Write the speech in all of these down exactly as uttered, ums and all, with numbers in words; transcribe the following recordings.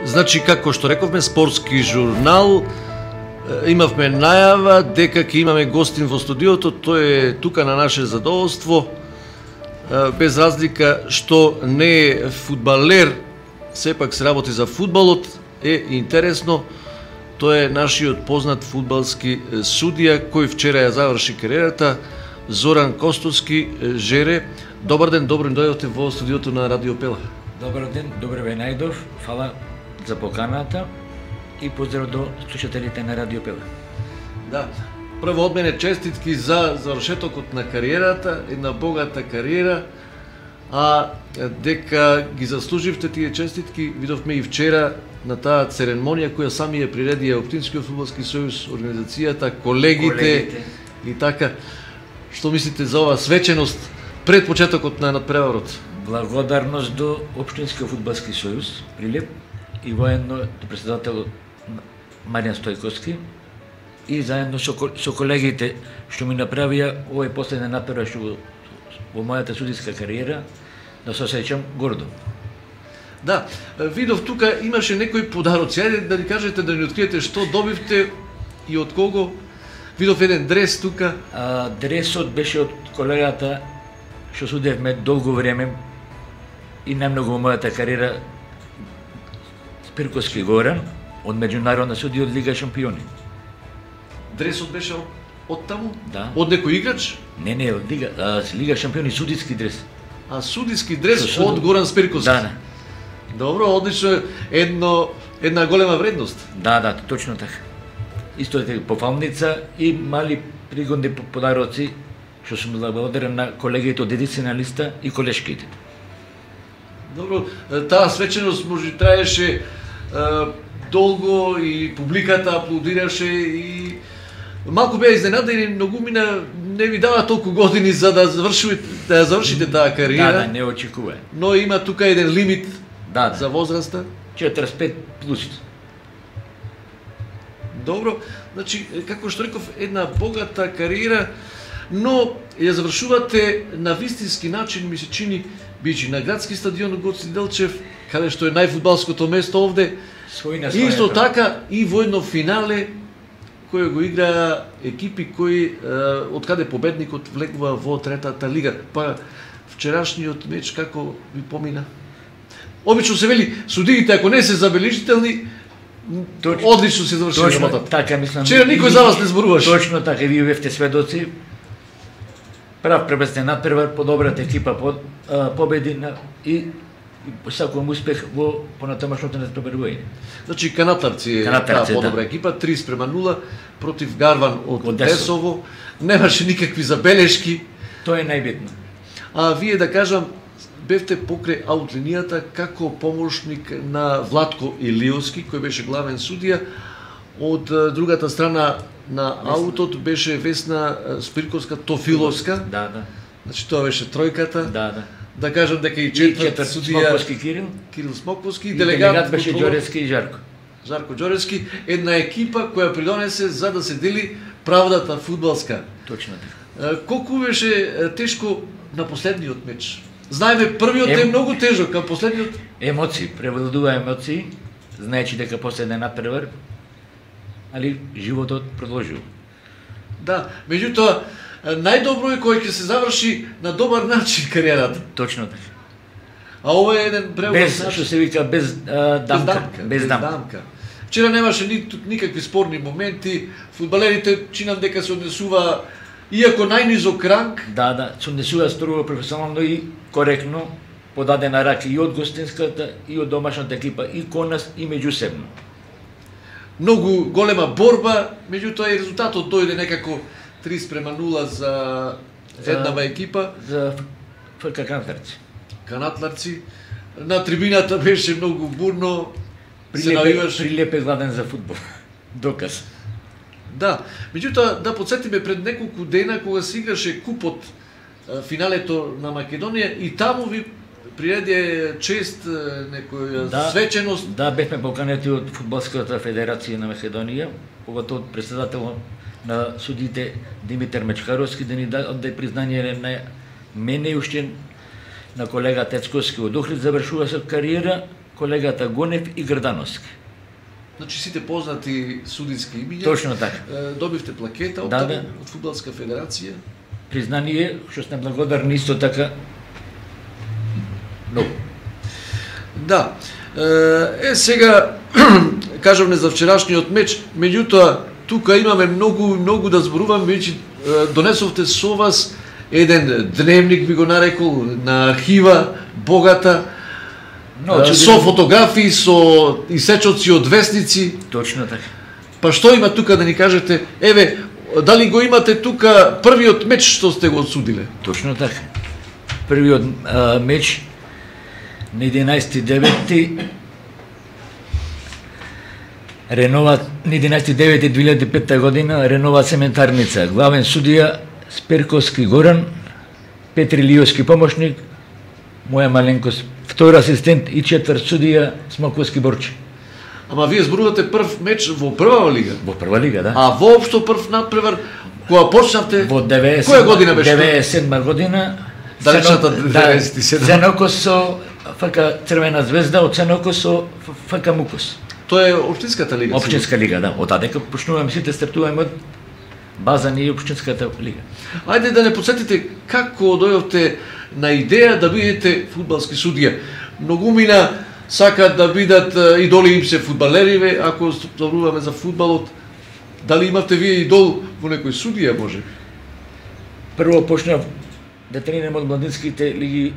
Значи, како што рековме, спортски журнал, имавме најава дека ќе имаме гостин во студиото, тој е тука на наше задоволство, без разлика што не е фудбалер, сепак се работи за фудбалот, е интересно, тој е нашиот познат фудбалски судија, кој вчера ја заврши кариерата, Зоран Костовски, Жере. Добар ден, добро дојдовте во студиото на Радио Пела. Добар ден, добро ве најдов, фала за поканата и поздрав до слушателите на Радио Пела. Да, прво од мене честитки за завршетокот на кариерата, една богата кариера, а дека ги заслуживте тие честитки, видовме и вчера на таа церемонија која сами ја приреди Оптинскиот фудбалски сојуз, организацијата, колегите, колегите и така. Што мислите за оваа свеченост пред почетокот на надпреварот? Благодарност до Општинскиот фудбалски сојуз, Прилеп, и воедно до председател Маријан Стојковски, и заедно со, со колегите што ми направија овој последен надпревар што во мојата судиска кариера, да се осеќам гордо. Да, видов тука имаше некои подароци. Ајде да ни кажете, да ни откриете што добивте и од кого. Видов еден дрес тука. А, дресот беше од колегата што судевме долго време и најмногу во мојата кариера, Спирковски Горан, од меѓународна судија од Лига шампиони. Дресот беше од, од таму? Да. Од некој играч? Не, не, од Лига, а, Лига шампиони, судиски дрес. А судиски дрес Со, од Горан Спирковски? Да, да. Добро, одлично, едно, една голема вредност. Да, да, точно така. Исто е пофалница и мали пригодни подароци, што сум благодарен на колегите од едиционалиста и колешките. Добро, таа свеченост може траеше е, долго и публиката аплодираше и малку беа изненадени, многу мина не ви дава толку години за да завршите, да завршите таа кариера. Да, да, не очекува. Но има тука еден лимит да, да. за возраста. четириесет и пет плюс. Добро, значи, како што реков, една богата кариера, но ја завршувате на вистински начин, ми се чини, бичи на градски стадион Гоце Делчев, каде што е најфудбалското место овде. Својна и исто така и во едно финале кој го играа екипи кои од каде победникот влегува во третата лига. Па вчерашниот меч како ви помина? Обично се вели судиите ако не се забележителни, точно, одлично се заврши работата. Така мислам. Вчера никој за вас не зборуваше. Точно така, вие бевте сведоци. Прав пребесен надпревар, подобрата екипа под, а, победи на, и, и сакувам успех во понатамашното надпреварување. Значи Канатларци е таа подобра да. екипа, три спрема нула против Гарван од, од Десово. Немаше никакви забелешки. Тоа е најбитно. А вие да кажам, бевте покрај аутлинијата како помошник на Владко Илиовски, кој беше главен судија. Од другата страна на аутот беше Весна Спирковска Тофиловска. Да, да. Значи тоа беше тројката. Да, да. Да кажам дека и четврт судија Смоквоски Кирил. Кирил Смоквоски, и делегат, делегат беше Ѓоревски и Жарко. Жарко Ѓоревски, една екипа која придонесе за да се дели правдата фудбалска. Точно така. Колку беше тешко на последниот меч? Знаеме, првиот е, е многу тежок, а последниот... Емоции, превладува емоции, знаечи дека последен надпревар, али животот продолжува. Да, меѓутоа, најдобро е кој ќе се заврши на добар начин кариерата. Точно така. А ова е еден преубав без, начин. Што се вика, без а, дамка. Без дамка. Без без дамка. дамка. Вчера немаше ни, никакви спорни моменти, фудбалерите чинам дека се однесува иако најнизок ранг. Да, да, се однесува строго професионално и коректно, подадена рака и од гостинската, и од домашната екипа, и кон нас, и меѓусебно. Многу голема борба, меѓутоа и резултатот дојде некако три спрема нула за еднава екипа. За ФК Канатларци. Канатларци. На трибината беше многу бурно. Прилеп, Прилеп е гладен за фудбал. Доказ. Да, меѓутоа да подсетиме пред неколку дена кога се играше купот, финалето на Македонија, и таму ви приреди чест некоја да, свеченост. Да, бевме поканети од Фудбалската федерација на Македонија, поготово од председател на судите Димитар Мечкаровски, да ни даде признание на мене и уште на колега Тецковски од Охрид, завршува се кариера колегата Гонев и Грдановски. Значи сите познати судиски имиња. Точно така. Добивте плакета од, да, да. да. од Фудбалска федерација. Признание, што сте благодарни исто така. Но. Да. Е, сега, кажавме за вчерашниот меч, меѓутоа, тука имаме многу, многу да зборувам, веќе донесовте со вас еден дневник, би го нарекол, на архива, богата, Но, со фотографии, со исечоци од вестници. Точно така. Па што има тука да ни кажете? Еве, дали го имате тука првиот меч што сте го отсудиле? Точно така. Првиот а, меч на единаесети девети Ренова на единаесети девети две илјади и петта година Ренова цементарница. Главен судија Сперковски Горан, Петри Лиовски помошник, моја маленкост втори асистент и четврт судија Смоковски Борче. Ама вие зборувате прв меч во прва лига? Во прва лига, да. А воопшто прв надпревар кога почнавте? Во деветдесет Која година беше? деветдесет и седма година. Далечната деветдесет и седма. Ценокос со ФК Црвена звезда, од Ценокос со ФК Мукос. Тоа е општинската лига. Општинска лига, да. Од тадека почнуваме сите стартуваме од база ни општинската лига. Ајде да не подсетите како дојдовте на идеја да бидете фудбалски судија. Многумина сакаат да бидат идоли им се фудбалериве, ако зборуваме за фудбалот. Дали имавте вие идол во некој судија, може? Прво почнав да тренирам од младинските лиги.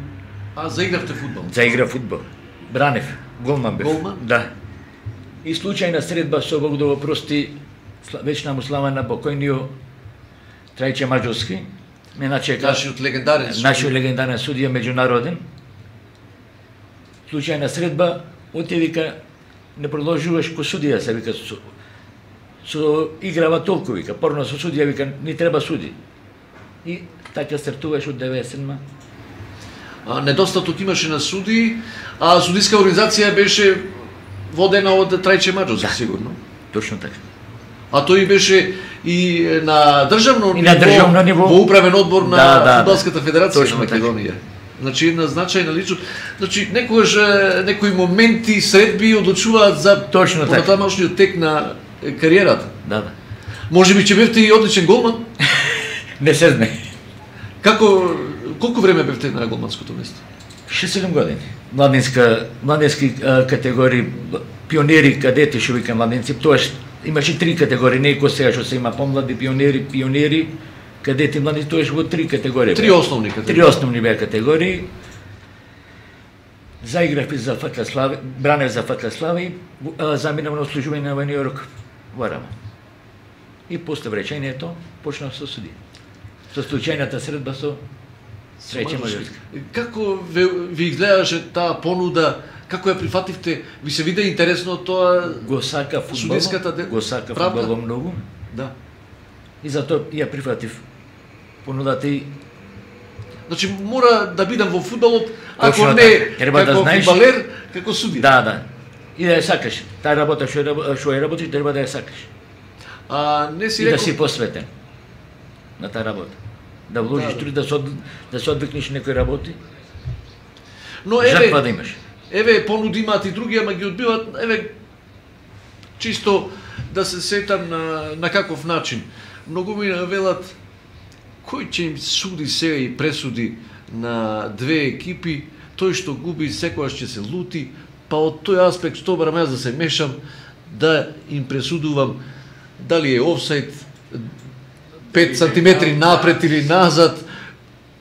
А, заигравте фудбал? Заигра фудбал. Бранев, голман бев. Голман? Да. И случајна средба со Бог да го прости вечна му слава на покојниот Трајче Маđовски. Ме начека Нашиот легендарен судија. Нашиот легендарен судија меѓународен. Случајна средба, оти вика, не продолжуваш ко судија, се вика, со, со играва толку, вика, порно со судија, вика, ни треба суди. И така стартуваш од деветдесет и седма. А, недостаток имаше на суди, а судиска организација беше водена од Трајче Маđовски, Да. сигурно. Точно така. А тој беше и на државно И на државно ниво во управен одбор на да, да, Фудбалската федерација точно на Македонија. Значи една значајна личност. Значи некогаш некои моменти, средби одлучуваат за Точно така. понатамошниот тек на кариерата. Да, да. Може би че бевте и одличен голман. Не се знае. Како колку време бевте на голманското место? шест-седум години. Младинска, младински а, категории, пионери, кадети, што вика младинци, тоаш имаше три категории, не ко сега што се има помлади, пионери, пионери, кадети, млади, тоаш во три категории. Три основни категории. Три основни беа категории. Заиграв и за ФК Слави, бранев за ФК Слави, а, заминав на служување во Нью-Йорк, во Рама. И после вречењето почнав со судија. Со случајната средба со Трајче Маđовски. Како ви, ви изгледаше таа понуда, како ја прифативте? Ви се виде интересно тоа? Го сака фудбал, судиската де- го сака правда? фудбал многу. Да. И затоа ја прифатив понудата и Значи мора да бидам во фудбалот, ако Точно не така. Треба да како знаеш- фудбалер, како судија. да, да. И да ја сакаш. Таа работа што ја, што ја работиш, треба да ја сакаш. А не си И да рекол, си посветен на таа работа. Да вложиш Да, да. труд да се од, да се одвикнеш некои работи. но Жртва еве, да имаш. еве понуди имаат и други, ама ги одбиваат, еве чисто да се сетам на на каков начин. Многу ми велат кој ќе им суди сега и пресуди на две екипи, тој што губи секогаш ќе се лути, па од тој аспект што барам јас да се мешам, да им пресудувам дали е офсайд, пет сантиметри напред или назад,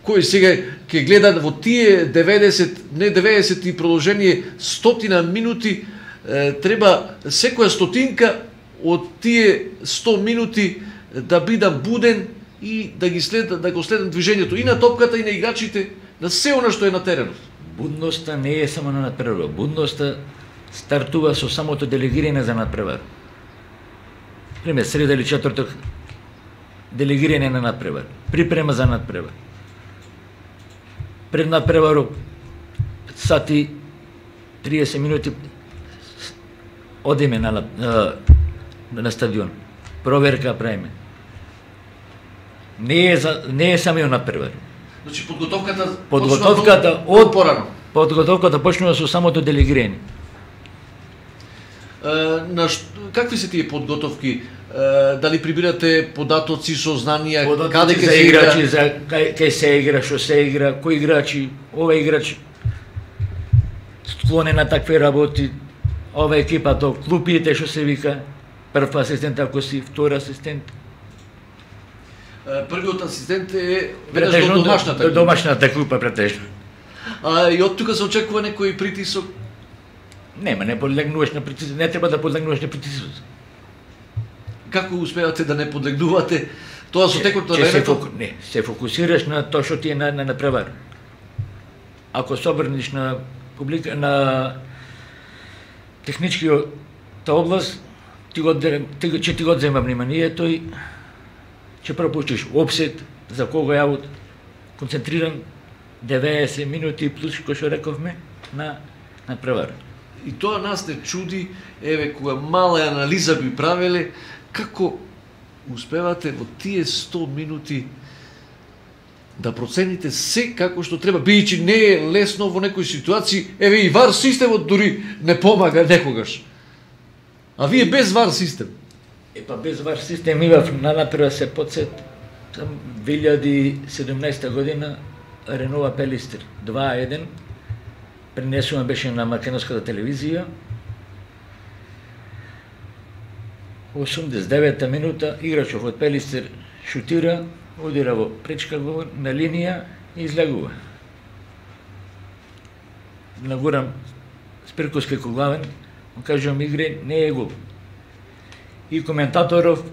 кој сега ќе гледа во тие деветдесет, не деветдесет и продолжение стотина минути, е, треба секоја стотинка од тие сто минути да бидам буден и да ги следам, да го следам движењето и на топката и на играчите, на се она што е на теренот. Будноста не е само на надпревар. Будноста стартува со самото делегирање за надпревар. Пример, среда или четврток, делегирање на надпревар. Припрема за надпревар. Пред надпреварот, сати триесет минути, одиме на, на, на стадион. Проверка правиме. Не е, за, не е самиот надпревар. Значи подготовката Подготовката почнува од порано. Подготовката почнува со самото делегирање. На ш... какви се тие подготовки? Дали прибирате податоци со знанија, каде ќе за се играчи, игра? за кај, кај се игра, што се игра, кои играчи, овој играч склонен на такви работи, ова екипа то клупите што се вика, прв асистент ако си, втор асистент. Првиот асистент е веднаш до домашната клупа. Домашната клупа претежно. А и од тука се очекува некој притисок? Нема, не подлегнуваш на притисок, не треба да подлегнуваш на притисок. Како успевате да не подлегнувате тоа со текот на времето? Се фоку... Не, се фокусираш на тоа што ти е на, на, на превар. Ако се обрниш на публика, на техничкиот област, ти го, ти, че ти го зема внимание, тој ќе пропуштиш опсет, за кого е аут, концентриран деветдесет минути плюс, кој што рековме, на, на превар. И тоа нас не чуди, еве, кога мала анализа би правеле, како успевате во тие сто минути да процените се како што треба, бидејќи не е лесно во некои ситуации, еве и вар системот дури не помага некогаш. А вие без вар систем. Е па без вар систем имав на напрва се подсет там две илјади и седумнаесета година Ренова Пелистер два еден пренесуван беше на македонската телевизија. осумдесет и девета минута играчот од Пелистер шутира, удира во пречка гол на линија и излегува. Нагурам Спирковски Коглавен, му кажувам игре, не е гол. И коментаторов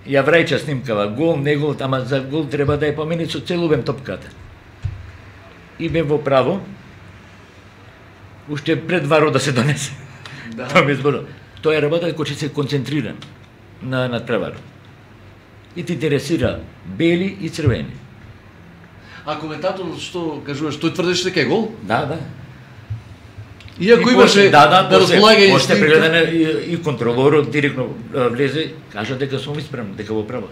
ја враќа снимкава, гол, не гол, ама за гол треба да ја помени со цел обем топката. И бе во право, уште пред варот да се донесе. Да. Тоа ми зборува. Тоа е работа кој ќе се концентрира на, на преварот. И ти интересира бели и црвени. А коментаторот што кажуваш, тој тврдеше дека е гол? Да, да. Иако имаше да, да, да разполагање после прегледане и, и контролорот директно влезе, кажа дека сум исправен, дека во право.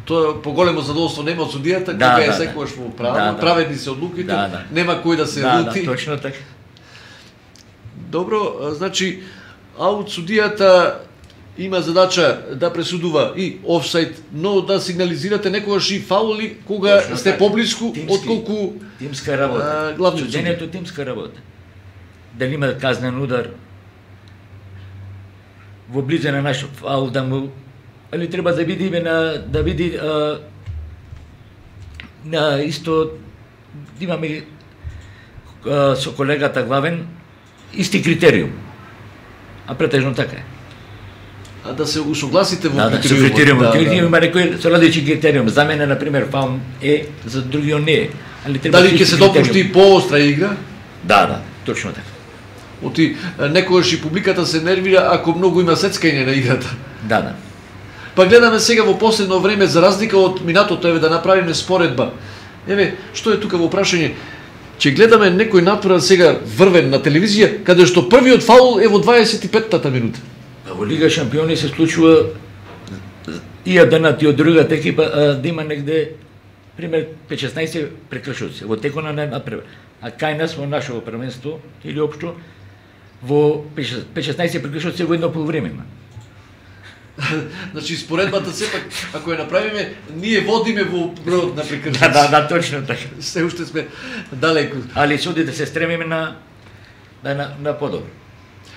Тоа поголемо задоволство нема од судијата, да, кога е да, секогаш во право, да, да. праведни се одлуките, да, да. нема кој да се да, лути. Да, точно така. Добро, значи, аут судијата има задача да пресудува и офсайд, но да сигнализирате некогаш и фаули кога точно сте така. Поблиску отколку тимска работа. Главниот судењето тимска работа. Дали има казнен удар во близо на наш фаул да му, али треба да видиме на да види а, на исто имаме а, со колегата Главен исти критериум. А претежно така е. А да се усогласите во да, критериумот. Да, критериумот. Да, да, има да. некои со различни критериум. За мене на пример фаул е, за другиот не е. Али треба дали ќе се допушти поостра игра? Да, да, точно така. Оти некогаш и публиката се нервира ако многу има сецкање на играта. Да, да. Па гледаме сега во последно време, за разлика од минатото, еве да направиме споредба. Еве, што е тука во прашање? Че гледаме некој натпревар сега врвен на телевизија, каде што првиот фаул е во дваесет и петтата минута. Во Лига Шампиони се случува и едната и од другата екипа да има негде пример пет-шеснаесет прекршоци во текот на натпревар. А кај нас во нашето првенство или општо во пет-шеснаесет прекршоци во едно полувреме има. Значи споредбата сепак ако ја направиме, ние водиме во бројот на прекршоци. Да, да, да, точно така. Се уште сме далеку. Али суди да се стремиме на на на, на подобро.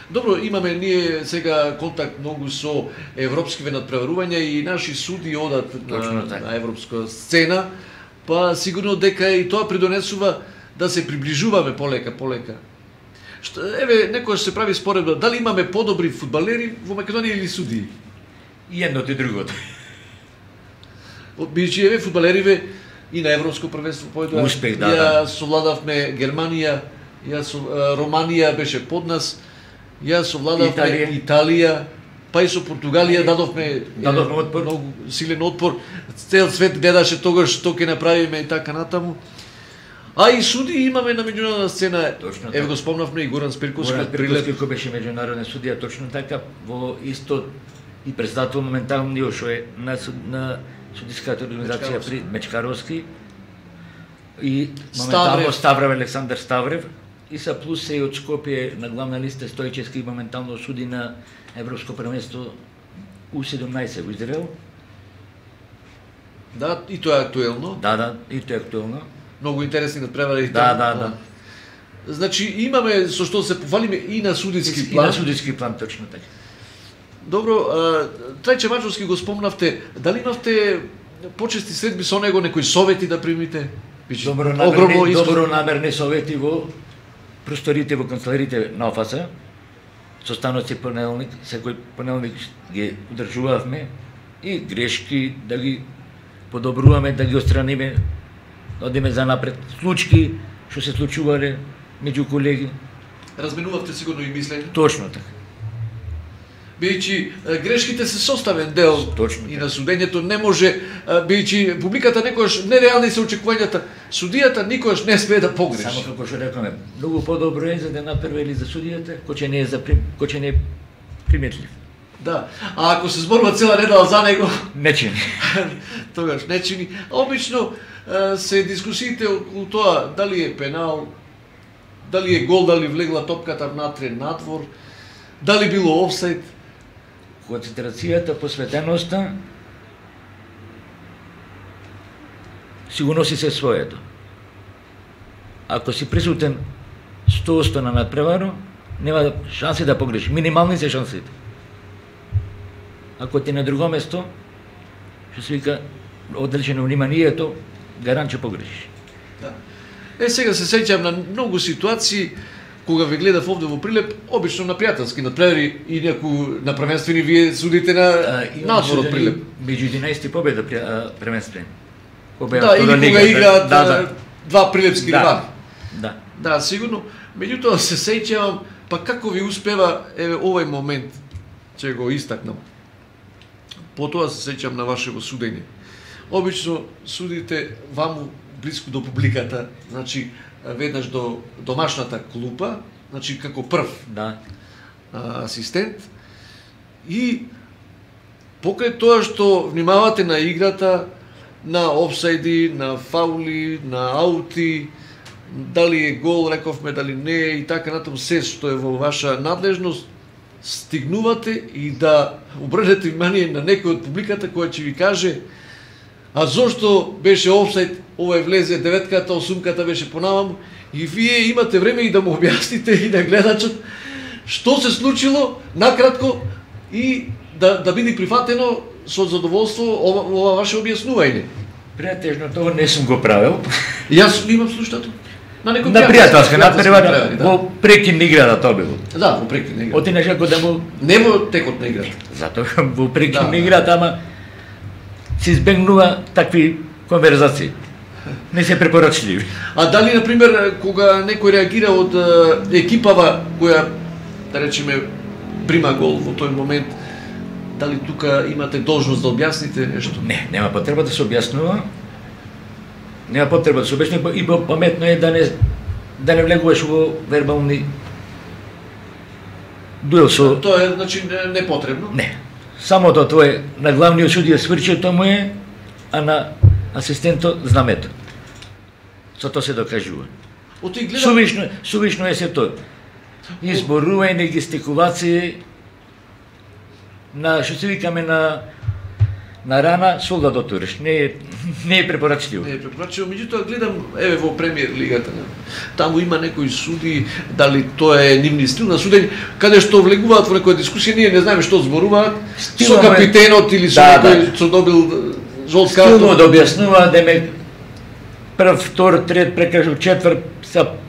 Добро, имаме ние сега контакт многу со европскиве надпреварувања и наши суди одат на, на европска сцена, па сигурно дека и тоа придонесува да се приближуваме полека, полека. Што, еве, некојаш се прави споредба, дали имаме подобри фудбалери во Македонија или судии? И едното и другото. Бидејќи еве фудбалериве и на европско првенство појдоа. Успех, да, ја да. совладавме Германија, ја со, Романија беше под нас. Ја совладавме Италија. Италија, па и со Португалија дадовме, дадовме отпор. Многу силен отпор. Цел свет гледаше тогаш што ќе направиме и така натаму. А и суди имаме на меѓународна сцена. Точно Еве го спомнавме и Горан Спирковски. Горан Спирковски кој беше меѓународен судија, точно така, во исто и председател моментално што е на, на судиската организација при Мечкаровски и моментално Ставрев, Ставрев Александар Ставрев, Иса плюс се и од Скопје на главна листа Стојчевски моментално суди на Европско првенство У седумнаесет во Израел. Да, и тоа е актуелно. Да, да, и тоа е актуелно. Многу интересни надпревари. Да, да, да. Значи имаме со што се пофалиме и на судиски И план. на судиски план, точно така. Добро, Трајче Мачовски го спомнавте, дали имавте почести средби со него, некои совети да примите? Добронамерни, добронамерни совети во просторите во канцелариите на ОФАС. Состаноци понеделник, секој понеделник ги одржувавме и грешки да ги подобруваме, да ги отстраниме, да одиме за напред. Случки што се случувале меѓу колеги. Разменувавте сигурно и мислење? Точно така. Бидејќи грешките се составен дел Точно, и на судењето, не може, бидејќи публиката некојаш нереални се очекувањата, судијата никогаш не смее да погреши. Само како што рекоме, многу подобро е за да направи за судијата, кој ќе не е за прим, кој ќе не е приметлив. Да, а ако се зборува цела недела за него, не чини. Тогаш не чини. Обично се дискусиите околу тоа дали е пенал, дали е гол, дали влегла топката внатре, надвор, дали било офсайд. Концентрацијата, посветеноста сигурно си се своето. Ако си присутен сто одсто на надпреваро, нема шанси да погрешиш. Минимални се шансите. Ако ти на друго место, што се вика оддалечено вниманието, гарант ќе погрешиш. Да. Е, сега се сеќавам на многу ситуации кога ве гледав овде во Прилеп, обично на пријателски надпревари и некој на првенствени вие судите на надвор од Прилеп. Меѓу единаесет победа првенствени. Да, или кога играат да, да. два прилепски да. ривали. Да. Да, сигурно. Меѓутоа се сеќавам, па како ви успева еве овој момент, ќе го истакнам. Потоа се сеќавам на вашето судење. Обично судите ваму блиску до публиката, значи веднаш до домашната клупа, значи како прв да. а, асистент, и покрај тоа што внимавате на играта, на офсайди, на фаули, на аути, дали е гол, рековме, дали не е и така натаму, се што е во ваша надлежност, стигнувате и да обрнете внимание на некој од публиката која ќе ви каже: а зошто беше офсайд, ова е влезе деветката, осумката беше понамаму, и вие имате време и да му објасните и на гледачот што се случило накратко и да да биде прифатено со задоволство ова, ова ваше објаснување. Претежно тоа не сум го правил. Јас имам слушнато. На некој на пријателска надпревара, во прекин играта тоа било. Да, во прекин играта. Отинеш како да му не во текот на играта. Затоа во прекин да, играта, ама се избегнува такви конверзации. Не се препорачливи. А дали, например, кога некој реагира од екипава која, да речеме, прима гол во тој момент, дали тука имате должност да објасните нешто? Не, нема потреба да се објаснува. Нема потреба да се објаснува и паметно е да не да не влегуваш во вербални дуел со... Тоа е, значи, непотребно? Не. Само тоа тоа е на главниот судија сврчето му е, а на асистентот знамето. Со тоа се докажува. Гледам... Сувишно, сувишно е се тоа. Изборување, гестикулации, на што се викаме на на рана солдат отуриш. Не е не е препорачливо. Не е препорачливо, меѓутоа гледам еве во премиер лигата. Таму има некои суди, дали тоа е нивни стил на судење, каде што влегуваат во некоја дискусија, ние не знаеме што зборуваат со капитенот или со да, некој да. што добил жолт карта. Стилно да објаснува деме прв, втор, трет, прекажу четврт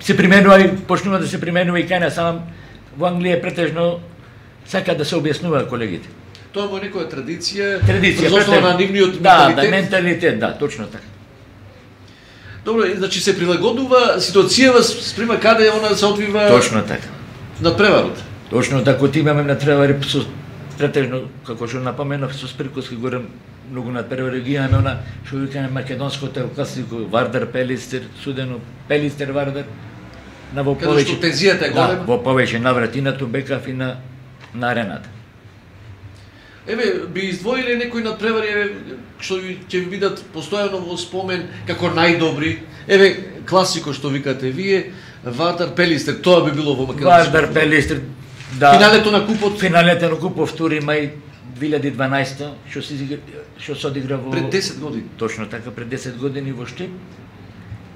се применува и почнува да се применува и кај нас, сам во Англија претежно сака да се објаснува колегите. Тоа е некоја традиција, традиција основа на нивниот да, менталитет. Да, менталитет, да, точно така. Добро, значи се прилагодува ситуацијава спрема каде она се одвива. Точно така. Надпреварот. Точно така, ти имаме надпревари со претежно, како што напоменав, со Спирковски горе многу надпревари ги имаме она што викаме македонското класико Вардар Пелистер, судено Пелистер Вардар. На во повеќе што тензијата е голема. Да, во повеќе наврати на Тубекав и на на арената. Еве, би издвоиле некои надпревари, еве, што ќе ви бидат постојано во спомен како најдобри. Еве, класико што викате вие, Вардар Пелистер, тоа би било во Македонија. Вардар Пелистер, да. Финалето на купот, Финалето на купот втори мај две илјади и дванаесета, што се изигра- што се одигра во пред десет години. Точно така, пред десет години во Штип,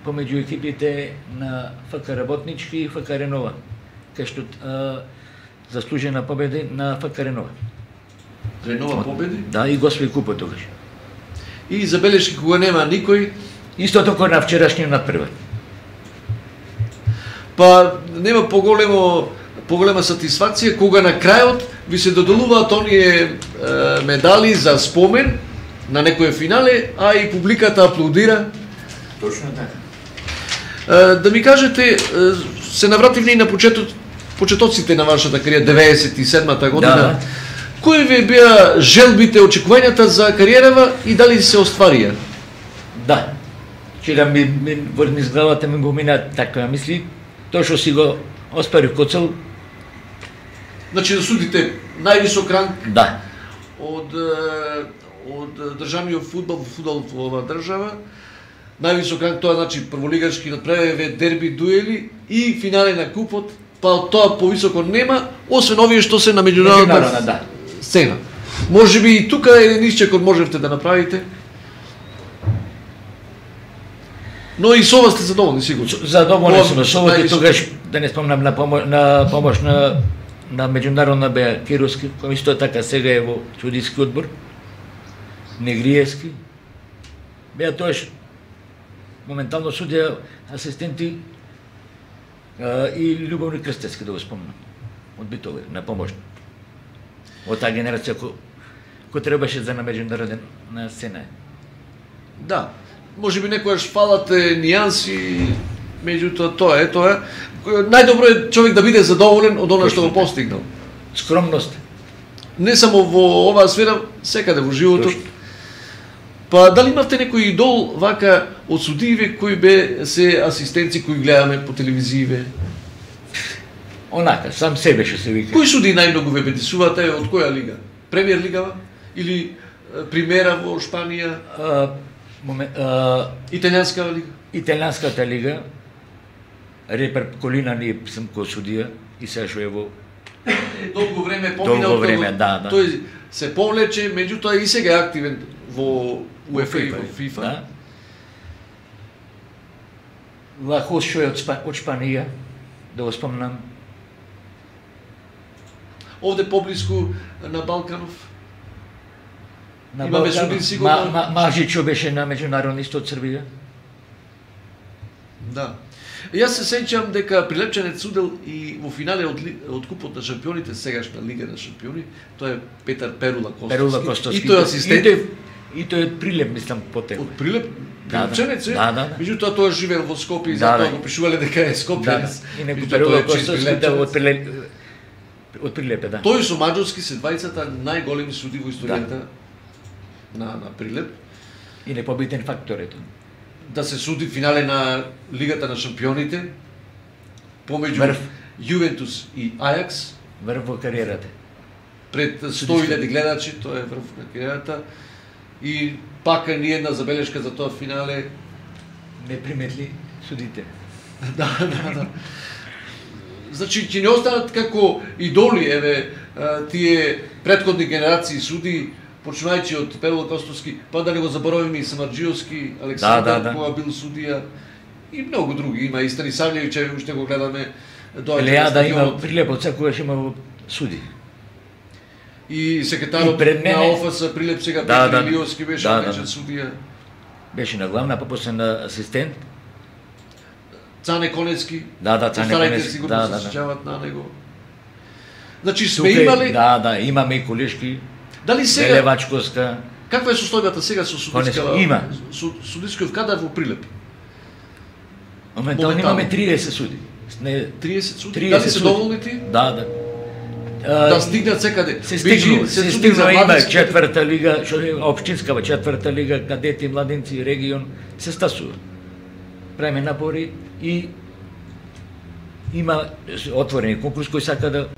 помеѓу екипите на ФК Работнички и ФК Ренова, кај што а, заслужена победа на ФК Ренова. Ренова победи. Да, и го освои купот тогаш. И забелешки кога нема никој, Исто така на вчерашниот надпревар. па нема поголемо поголема сатисфакција кога на крајот ви се доделуваат оние е, медали за спомен на некое финале, а и публиката аплодира. Точно така. Е, да ми кажете, е, се навративме и на почетот, почетоците на вашата кариера, деветдесет и седмата година. Да. Кои ви беа желбите, очекувањата за кариерава и дали се остварија? Да. Сега ми, ми во низ главата ми го мина таква мисли, тоа што си го оспарив ко цел, Значи да судите највисок ранг да. од е, од државниот фудбал во фудбал во оваа држава. Највисок ранг тоа значи прволигачки надпревари, дерби, дуели и финале на купот, па од тоа повисоко нема, освен овие што се на меѓународна Меѓународна, да. сцена. Може би и тука еден исчекор можевте да направите. Но и со ова сте задоволни, сигурно. Задоволен сум со овој највисок. тогаш, да не спомнам на помош на помош на на меѓународна беа Кировски, кој исто така сега е во судиски одбор, Негриевски. Беа тоаш моментално судија асистенти а, и Љубовни Крстевски, да го спомнам, од Битови, на помош. Од таа генерација кој кој требаше за на меѓународен на сцена. Да. Може би некојаш фалате нијанси, меѓутоа тоа е тоа. Најдобро е човек да биде задоволен од она што го постигнал. Скромност. Не само во оваа сфера, секаде во животот. Точно. Па дали имавте некој идол вака од судиите кои бе се асистенци кои гледаме по телевизиве? Онака, сам себе што се вика. Кои суди најмногу ве бедисуваат, е од која лига? Премиер лигава или е, Примера во Шпанија, А, момент, а, Италијанска лига? Италијанската лига, Репер Колина ние сум кој судија и сега што е во Долго време помина, Долго време, да, да. Тој се повлече, меѓутоа и сега е активен во УЕФА и во FIFA, ФИФА. Да. Лахос што е од, Спа, од Шпанија, да го спомнам. Овде поблиску на Балканов. На Имаме Балкан, суди сигурно. Ма, ма, Мажичо беше на меѓународни исто од Србија. Да. Јас се сеќам дека Прилепчанец судел и во финале од, ли- од купот на шампионите, сегашна Лига на шампиони, тоа е Петар Перула Костовски. Перула Костовски. И тој е асистент И тој, и тој е Прилеп, мислам, потекло. од Прилеп. Да, да. Прилепчанец е. Да, да, да. Меѓутоа тој живеел во Скопје и Да, затоа да. го пишувале дека е Да, да. Скопјанец. И некој Меѓутоа, Перула тој е чист Костовски да, Прилепчанец. од Прилеп, од Прилепе, да. Тој со Маđарски се двајцата најголеми суди во историјата на на Прилеп. И непобитен фактор е тоа. Да се суди финале на Лигата на шампионите помеѓу Врв. Јувентус и Ајакс Врв во кариерата. пред сто илјади гледачи, тоа е врв на кариерата. И пака ни една забелешка за тоа финале. Не приметли судите. Да, да, да. Значи, ќе не останат како идоли, еве, а, тие претходни генерации суди, почнувајќи од Перула Костовски, па да не го заборавиме и Самарџиевски, Александар, Да, да, да. кога бил судија, и многу други. Има и Станисавлjević, еве уште го гледаме, доаѓа на Елејада има стадионот. Прилепот, секогаш има суди. И секретарот И пред мене- на ОФС Прилеп сега Да, Петар да. Илиовски беше Да, наречен да. судија. Беше на главна, па после на асистент. Цане Конецки. Да, да, Цане Постарајте Конецки, сигурно да, се да, да. сеќават на него. Значи сме Тука е- имали. Да, да, имаме и Колешки, Дали сега Велевачковска. каква е состојбата сега со судиска? Конецки, има. Со судискиот кадар во Прилеп. Моментално Моментално. имаме триесет суди. Не, триесет суди. триесет Дали се суди. доволни ти? Да, да. Да А, стигнат секаде. Се Биџи, стигнува, се се суди за стигнува, има младински- четврта лига, што е општинскава четврта лига, кадети, младинци, регион, се стасува. Правиме напори и има отворени конкурс кој сака да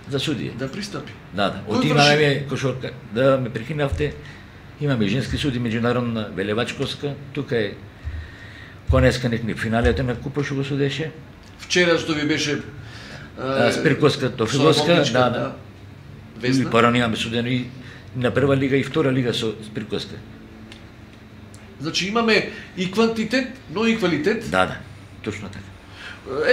за судија. Да пристапи. Да, да. Кој Од врши? имаме, кој што да ме прекинавте, имаме женски суди меѓународна Велевачковска, тука е конеска некни финалето на купа што го судеше. Вчера што ви беше а, Спирковска Тофиловска, да, да. И пара немаме судено и на прва лига и втора лига со Спирковска. Значи имаме и квантитет, но и квалитет. Да, да, точно така.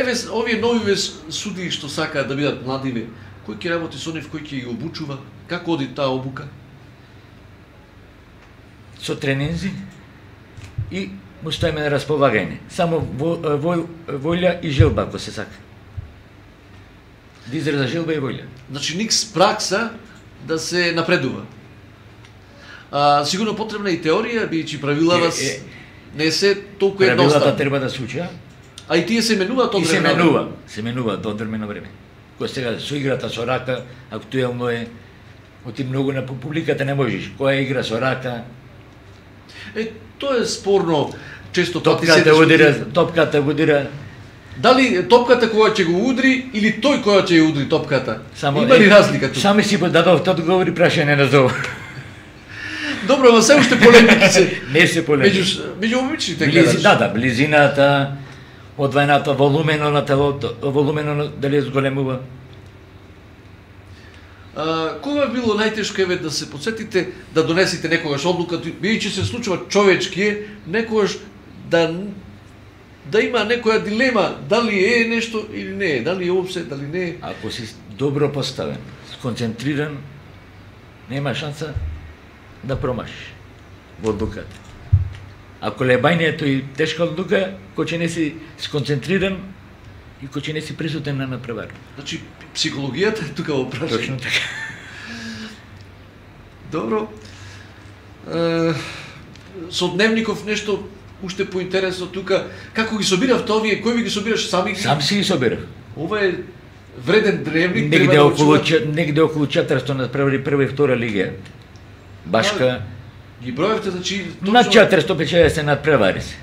Еве овие нови судии што сакаат да бидат младиве, кој ќе работи со нив, кој ќе ги обучува, како оди таа обука? Со тренинзи и му стоиме на располагање. Само во, во, волја и желба, ако се сака. Да израза желба и волја. Значи никс пракса да се напредува. А, сигурно потребна и теорија, бијќи правилава е, е, не се толку едноставни. Правилата треба да се учат. А и тие се менуваат од време. И се менува, се менува до одредено време. Кој сега со играта со рака актуелно е, оти многу на публиката не можеш. Која игра со рака? Е, тоа е спорно. Често пати се удира, топката удира. Дали топката која ќе го удри или тој која ќе ја удри топката? Само, има ли разлика тука? Сами си дадов одговори, прашање на зов. Добро, ама се уште полемики се. Не се полемики. Меѓу меѓу обичните гледаш. Да, да, близината, одвајната, волумено на телото, волумено дали зголемува. А, кога било најтешко еве да се подсетите да донесете некогаш одлука, бијќи се случува човечки, некогаш да да има некоја дилема дали е нешто или не е, дали е опсе, дали не е. Ако си добро поставен, сконцентриран, нема шанса да промашиш во одлуката. Ако лебајнието и тешка одлука, кој ќе не си сконцентриран и кој ќе не си присутен на напревар. Значи, психологијата е тука во прашање. Точно така. Добро. Е, со дневников нешто уште поинтересно тука. Како ги собиравте овие? Кој ви ги собираш? Сами ги? Сам си ги собирав. Ова е вреден дневник. Негде околу, негде околу четиристотини надпревари прва и втора лига. Башка. Ги броевте, значи... Точно... На четиристотини и педесет надпревари се.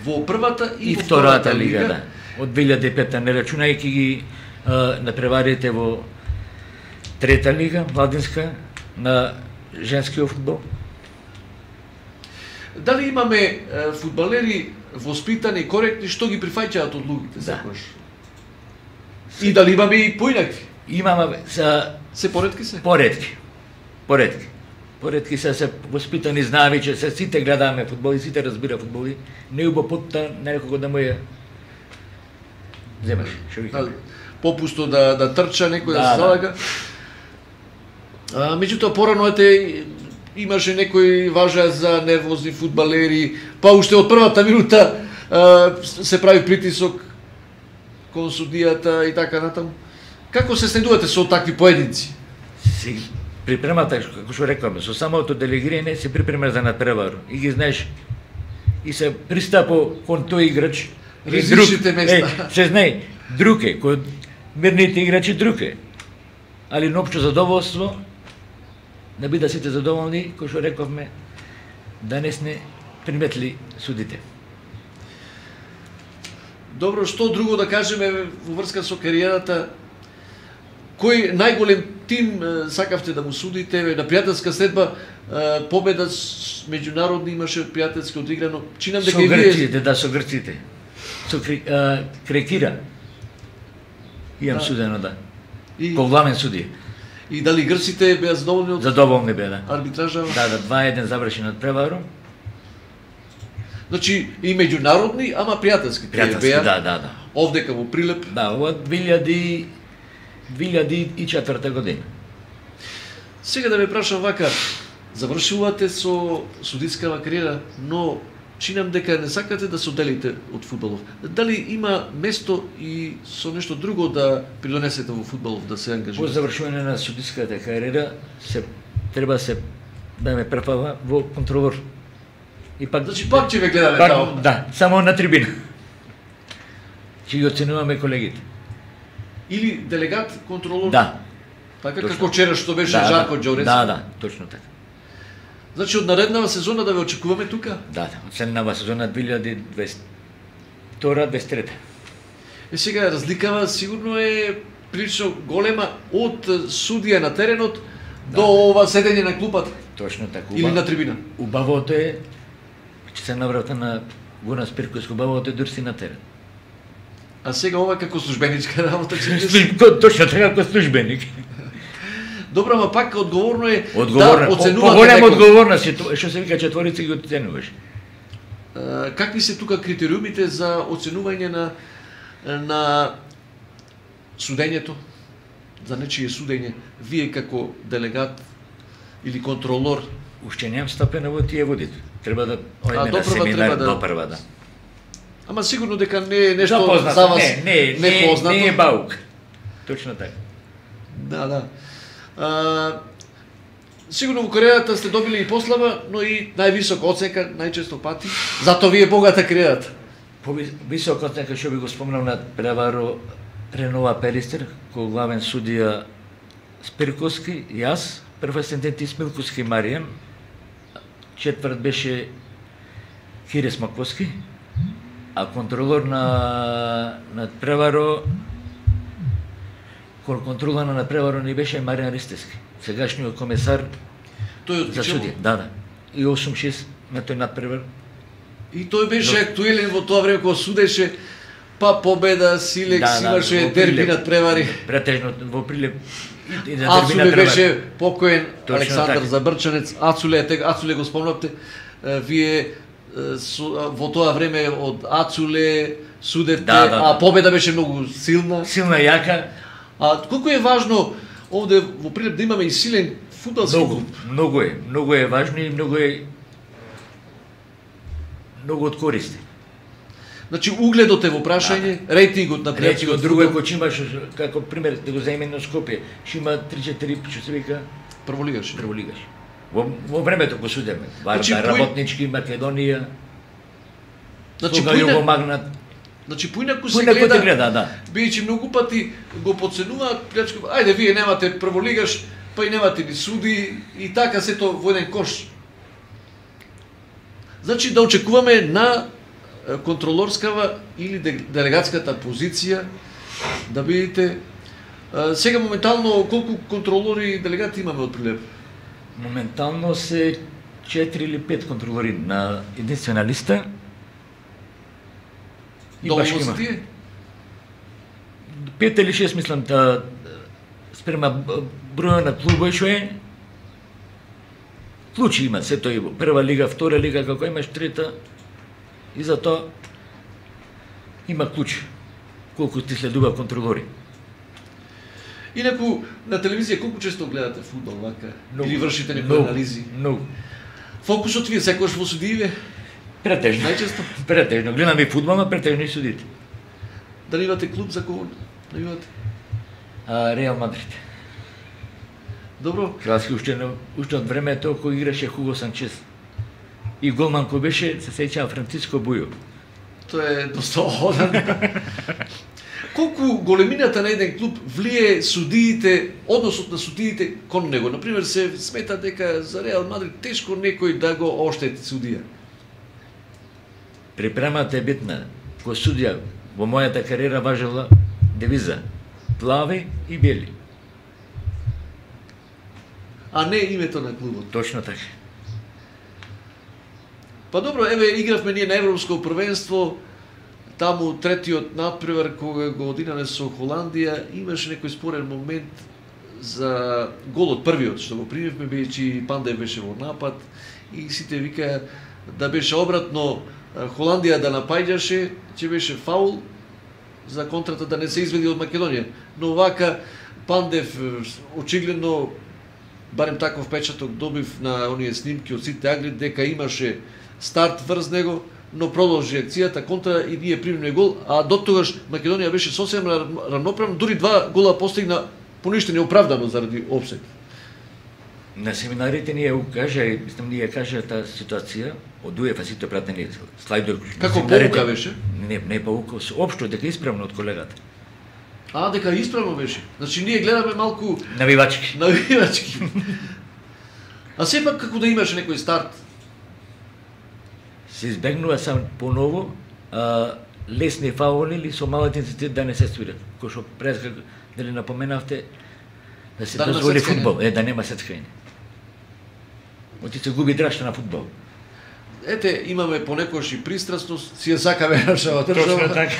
Во првата и, и во втората лига, лига, да. Од две илјади и пета, не рачунајќи ги а, надпреварите во трета лига, младинска, на женскиот фудбал. Дали имаме е, фудбалери воспитани и коректни што ги прифаќаат од луѓето секогаш? Да. И дали имаме и поинакви? Имаме са се поретки се. Поретки. Поретки. Поретки се се воспитани, знаеме че се сите гледаме фудбал и сите разбира фудбал. Не убо потта некого да му ја земаш, што ви кажа. Попусто да да трча некој да, да се залага. А, меѓутоа порано ете имаше некои важа за нервозни фудбалери, па уште од првата минута а, се прави притисок кон судијата и така натаму. Како се снедувате со такви поединци? Си припремата, како што рекаме, со самото делегирање се припрема за надпревар и ги знаеш и се пристапо кон тој играч. Различните места. Е, се знае, друг е, кој мирните играчи друг е. Али на општо задоволство, да бидат сите задоволни, кој што рековме, данес не приметли судите. Добро, што друго да кажеме во врска со кариерата? Кој најголем тим сакавте да му судите? На пријателска следба победа меѓународни имаше пријателски одиграно. Чинам дека и вие... Со грците, да, со грците. Со а, Крекира. Имам да. Судено, да. И... Ко главен судија. И дали грците беа задоволни од... Задоволни беа, да. Арбитража? Да, да, два еден заврши над преваром. Значи и меѓународни, ама пријателски. Пријателски, беа, да, да, да. Овдека во Прилеп. Да, во две илјади и четврта година. Сега да ме прашам вака, завршувате со судискава кариера, но чинам дека не сакате да се одделите од фудбалов. Дали има место и со нешто друго да придонесете во фудбалов, да се ангажирате? По завршување на судиската кариера се треба се да ме префава во контролор. И пак значи пак ќе ве гледаме пак, тамо. Да, само на трибина. Ќе ги оценуваме колегите. Или делегат, контролор? Да. Така точно. Како вчера што беше да, Жарко да, Ѓорец? Да, да, точно така. Значи од нареднава сезона да ве очекуваме тука? Да, да, од следнава сезона две илјади и дваесет и втора дваесет и трета. Е сега разликава сигурно е прилично голема од судија на теренот да. До ова седење на клупата. Точно така. Или на трибина. Убавото е че се наврата на Горан Спирковски убаво те дурси на терен. А сега ова како службеничка работа че Точно така како службеник. Добро, ама пак одговорно е одговорно, да оценувате поголема некој. одговорност е тоа, што се вика четворица ги оценуваш. Uh, какви се тука критериумите за оценување на на судењето, за нечие судење? Вие како делегат или контролор? Уште немам стапена во тие водите. Треба да одиме на допрва семинар треба да- допрва, да. Ама сигурно дека не е нешто Запознато, за вас не, не, не, непознато. не е баук. Точно така. Да, да. А, сигурно во кариерата сте добили и послава, но и највисока оценка најчесто пати. Затоа ви е богата кариерата. По висок оценка што би го спомнал на преваро Ренова Перистер, кој главен судија Спирковски, јас, прв асистент Исмилковски Маријан, четврт беше Кире Смаковски, а контролор на на преваро кон контрола на преваро ни беше Маријан Ристевски, сегашниот комесар Тој од за Кичево. судија. Да, да. И осум шест на тој надпревар. И тој беше актуелен во тоа време кога судеше, па Победа, Силекс, Да, да, имаше во дерби Прилеп. над превари. Претежно во Прилеп и, и на дерби Ацуле надпревар. беше покоен, Точно Александар така. Забрчанец, Ацуле, тега Ацуле го спомнавте, е, вие е, со- во тоа време од Ацуле судевте, Да, да, да. а Победа беше многу силна. Силна јака, А колку е важно овде во Прилеп да имаме и силен фудбалски многу, клуб? многу е, многу е важно и многу е многу од користи. Значи угледот е во прашање, рейтингот на Речи пријателскиот го друго е фудбал, кој ќе имаш како пример да го земеме на Скопје, ќе има три-четири што се вика прволигаш. прволигаш. Во, во времето го судеме. Варда, Значи, пои- Работнички, Македонија, Значи Слуга поина- Југомагнат. Значи поинаку се Поинаку гледа, те гледа, да. бидејќи многу пати го подценуваат плячко. Ајде вие немате прволигаш, па и немате ни суди и така сето во еден кош. Значи да очекуваме на е, контролорскава или де- делегатската позиција да бидете е, сега моментално колку контролори и делегати имаме од Прилеп? Моментално се четири или пет контролори на единствена листа. И баш Доволно има. се тие? Пет или шест мислам да спрема б- броја на клубови што е. Клучи има сето и во прва лига, втора лига, како имаш трета. И затоа има клуч. Колку ти следува контролори. Инаку на телевизија колку често гледате фудбал вака Многу. или вршите некои Многу, анализи? Многу. Фокусот ви е секогаш во судиите? Претежно. Најчесто? Претежно. Гледаме и фудбал, но претежно и судите. Дали имате клуб за кого навивате? А, Реал Мадрид. Добро. Кралски уште, на- уште од времето кој играше Хуго Санчес. И голман кој беше, се сеќава Франциско Бујо. Тоа е доста одан. Колку големината на еден клуб влие судиите, односот на судиите кон него? Например, се смета дека за Реал Мадрид тешко некој да го оштети судија. Припремата е битна. Кој судија во мојата кариера важела девиза плави и бели. А не името на клубот. Точно така. Па добро, еве игравме ние на Европско првенство, таму третиот надпревар кога го одинале со Холандија, имаше некој спорен момент за голот првиот што го примивме, бидејќи Пандев беше во напад и сите викаа да беше обратно, Холандија да напаѓаше, ќе беше фаул за контрата да не се изведи од Македонија. Но вака Пандев очигледно, барем таков печаток добив на оние снимки од сите агли, дека имаше старт врз него, но продолжи акцијата контра и ние примивме гол, а до тогаш Македонија беше сосем равноправна, дури два гола постигна поништени оправдано заради опсет. На семинарите ние го кажа, и мислам ние кажа таа ситуација, од УЕФА сите пратени слайдер. Како семинарите- поука беше? Не, не поука, општо дека исправно од колегата. А, дека исправно беше. Значи ние гледаме малку Навивачки. навивачки. А сепак како да имаше некој старт, Се избегнува сам поново а, лесни фаули или со мал интензитет да не се свират. Кој што пред како дали напоменавте да се Да нема дозволи сецкање. фудбал, е да нема сецкање. Оти се губи драшта на фудбал. ете, имаме понекогаш и пристрасност, си ја сакаме нашава држава. Точно така.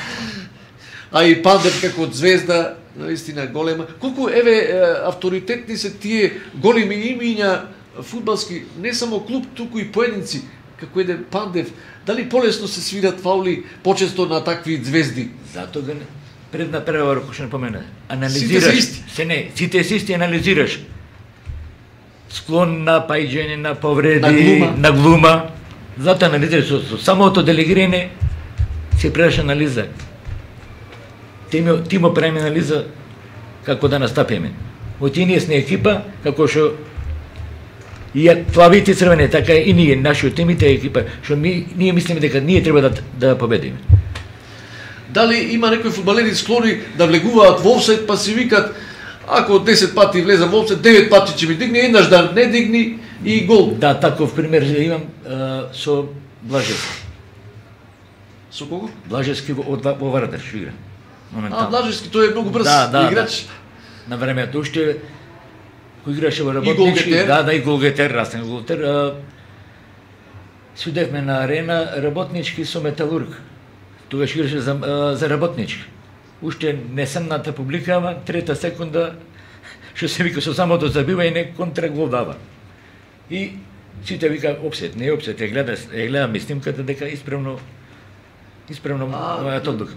А и Пандев како звезда, наистина голема. Колку, еве, авторитетни се тие големи имиња фудбалски, не само клуб, туку и поединци, како еден Пандев. Дали полесно се свират фаули почесто на такви звезди? Затоа го предна превара, кој што не помена. Анализираш. Сите се исти. Се не, сите се исти анализираш. Склон на пајџење, на повреди, на глума. На глума. Затоа анализираш со, со самото делегирање се предаш анализа. Ти ми, ти му правиме анализа како да настапиме. Од ние сме екипа, како што и плавите црвени, така и ние, нашиот тимите екипа, што ми, ние мислиме дека ние треба да, да победиме. Дали има некои фудбалери склони да влегуваат во офсайд, па си викат, ако десет пати влезам во офсайд, девет пати ќе ми дигне, еднаш да не дигни и гол. Да, таков пример имам а, со Блажевски. Со кого? Блажевски во, во Вардар што игра. А, Блажевски, тој е многу брз да, да, играч. Да. На времето уште кој играше во Работнички, да, да, и голгетер, расен голгетер. А, судевме на арена Работнички со Металург. Тогаш играше за, а, за Работнички. Уште несемната публика, ама трета секунда, што се вика со самото забива и не контрагол дава. И сите вика опсет, не опсет, ја гледа, ја гледам снимката дека исправно исправно мојата одлука.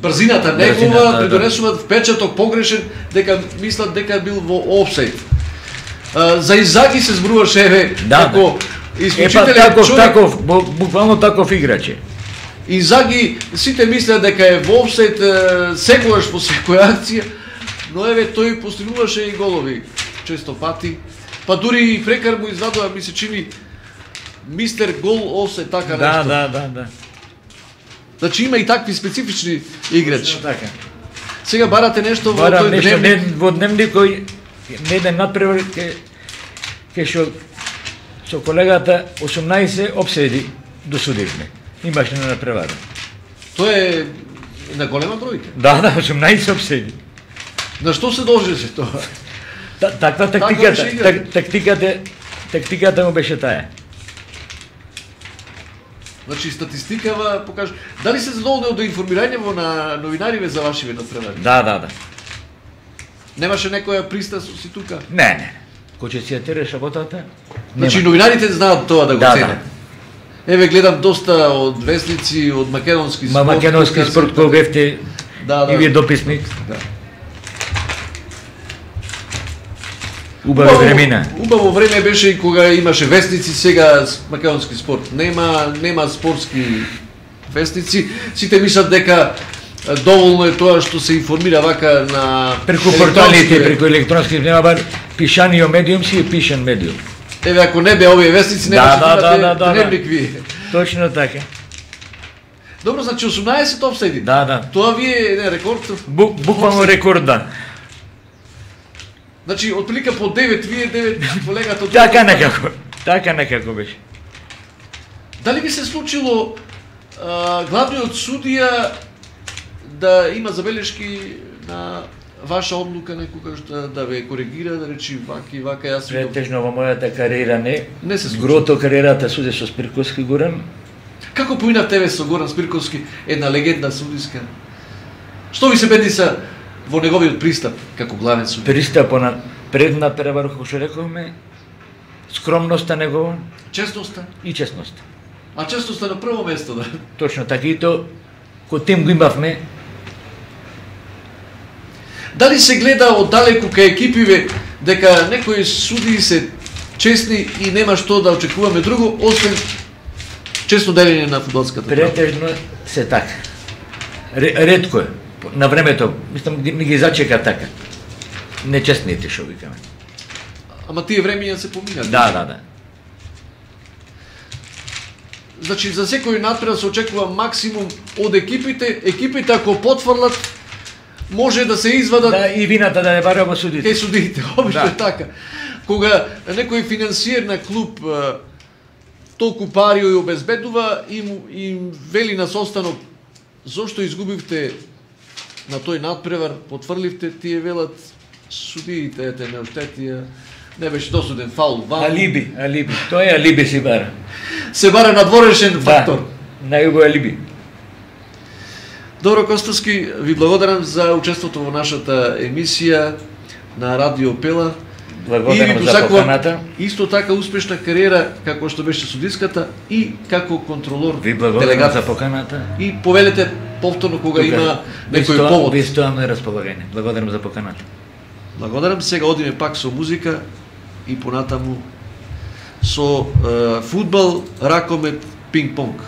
Брзината негова придонесуваат впечаток погрешен дека мислат дека бил во офсайд. За Изаги се зборуваше еве да, како да. исклучителен таков, човек. Таков, буквално таков играч. Инзаги сите мислеа дека е во офсайд секогаш по секоја акција, но еве тој постигнуваше и голови често пати. Па дури и прекар му извадува, ми се чини мистер гол офсайд, така да, нешто. Да, да, да. Значи има и такви специфични играчи. Така. Сега барате нешто во Барам тој нешто, дневник. не, во дневник кој не еден надпревар ке ке што со колегата осумнаесет опседи досудивме. Имаше на надпревара. Тоа е на голема бројка. Да, да, осумнаесет опседи. На што се должеше тоа? Та, таква тактиката, так, тактиката, тактиката му беше таа. Значи статистикава покажа. Дали се задоволни од информирањево на новинариве за вашиве надпревари? Да, да, да. Немаше некоја пристрасност и тука? Не, не. Кој ќе си ја тереш работата? Значи новинарите знаат тоа да го да, ценат. Да. Еве гледам доста од вестници, од македонски спорт. Ма македонски спорт кој бевте да, да. и вие дописник. Да. Убаво времена. Убаво време беше и кога имаше вестници, сега македонски спорт. Нема, нема спортски вестници. Сите мислат дека доволно е тоа што се информира вака на преку порталите, преку електронски нема пишанио медиум си е пишан медиум. Еве ако не бе овие вестници да, немаше да, да, да, да, дневник вие. Точно така. Добро, значи осумнаесет офсайди. Да, да. Тоа ви е еден рекорд. Бу, буквално рекорд, да. Значи, отприлика по девет, вие девет, колегата... Така некако, така некако беше. Дали би се случило а, главниот судија да има забелешки на ваша одлука некогаш да, да ве коригира, да речи вака и вака, јас ви... Претежно во мојата кариера не. Не се случи. Грото кариерата суди со Спирковски Горан. Како поина тебе со Горан Спирковски, една легенда судиска? Што ви се бедиса во неговиот пристап како главен судија? Пристапот на предна превар, како што рековме, скромноста негова, честноста и честноста. А честноста на прво место, да. Точно така и то кој тим го имавме. Дали се гледа оддалеку кај екипиве дека некои судии се честни и нема што да очекуваме друго освен честно делење на фудбалската трава? Претежно се така. Ретко е. На времето, мислам, не ги зачека така. Нечестните, шо викаме. Ама тие времења се поминат. Да, да, да. Значи, за секој надпревар се очекува максимум од екипите. Екипите, ако потврлат, може да се извадат... Да, и вината да не бара во судите. Кај судите, обично да. е така. Кога некој финансиер на клуб толку пари ја обезбедува, им, им вели на состанок, зошто изгубивте на тој надпревар, потврливте, тие велат судиите, ете, не оштетија, не беше досуден фаул. Вал. Алиби, алиби. Тоа е алиби си бара. се баре надворешен фактор. Да, најубаво алиби. Добро, Костовски, ви благодарам за учеството во нашата емисија на Радио Пела. Благодарам за поканата. Исто така успешна кариера како што беше судиската и како контролор. Ви благодарам за поканата. И повелете повторно кога Тука, има некој стоа, повод. Ви стоам на располагање. Благодарам за поканата. Благодарам. Сега одиме пак со музика и понатаму со е, фудбал, ракомет, пинг-понг.